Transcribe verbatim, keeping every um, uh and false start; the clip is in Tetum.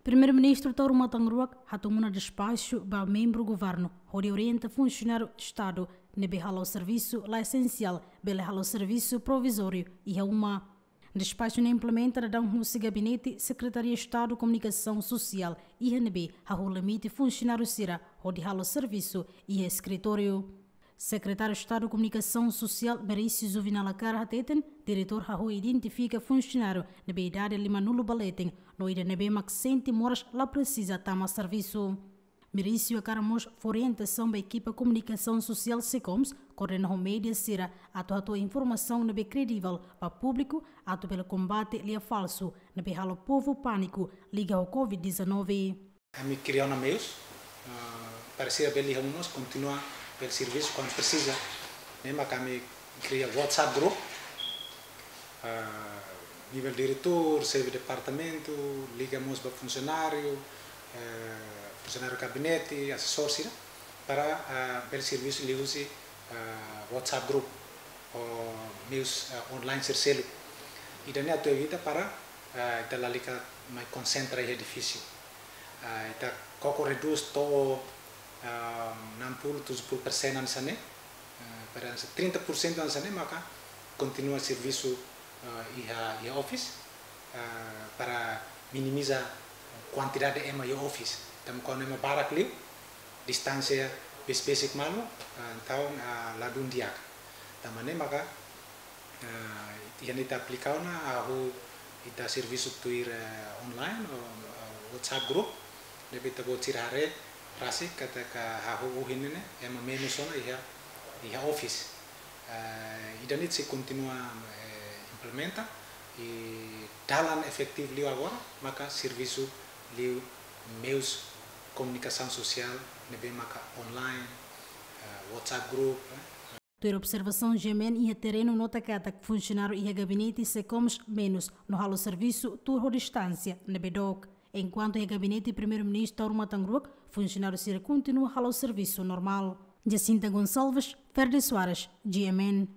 Primeiru-Ministru Taur Matan Ruak hatun ona despaxu ba membru governu hodi orienta funsionáriu Estadu ne'ebé halo servisu la esensiál bele halo servisu provizóriu iha uma. Despaxu ne'e implementa daudaun husi Gabinete Sekretaria Estadu Komunikasaun Sosiál iha ne'ebé hahú limite funsionáriu sira hodi halo servisu iha eskritóriu. Sekretáriu Estadu Komunikasaun Sosiál Merício Juvenal Lacar hateten, diretór hahú identifika funsionáriu ne'ebé idade limanulu ba leten no ida ne'ebé mak sente moras la presiza tama servisu. Merício hakarak mós fó orientasaun ba ekipa komunikasaun sosiál SECOMS koordena ho média sira atu hato'o informasaun ne'ebé kredivel ba públiku atu bele kombate lia falsu ne'ebé halo povu pániku liga ho covid dezanove. Ami kria ona meius, ah, para sira bele iha uma, kontinua bele servisu kuandu presiza. Ne'e mak ami kria WhatsApp group, ah, nivel diretór, xefe departamentu, liga mós ba funsionáriu, eh, funsionáriu gabinete, asesór sira, para, ah, bele servisu liuhusi, ah, WhatsApp group, ou meius, ah, online sira seluk. Ida-ne'e atu evita para, ah, ita lalika mai konsentra iha edifísiu. Ah, ita koko redús to'o, ah, enam puluh, tujuh puluh persen hanesan ne'e, ah, para trinta por cento hanesan ne'e maka kontinua servisu, ah, iha, iha office, ah, para minimiza kuantidade ema iha office. Tanba kuandu ema barak liu, distánsia besik-besik malu, ah, entaun, ah, ladún di'ak. Tanba ne'e maka, ah, iha ne'e ita aplika ona, hahú ita servisu tuir, eh, online, ou, eh, WhatsApp group, ne'ebé ita-boot sira haree rasik katak hahú ohin ne'e ema menus ona iha, iha office. Eh, ida-ne'e sei kontinua, eh, implementa, i dalan efetivu liu agora maka servisu liu meius komunikasaun sosiál ne'ebé maka online, eh, WhatsApp group, eh. Tuir observasaun GMN iha terrenu nota katak funsionáriu iha gabinete SECOMS menus no halo servisu tuur ho distánsia ne'ebé dook. Enkuantu iha gabinete Primeiru-Ministru Taur Matan Ruak, funsionáriu sira kontinua halo servisu normál. Jacinta Gonçalves, Ferde Soares, GMN.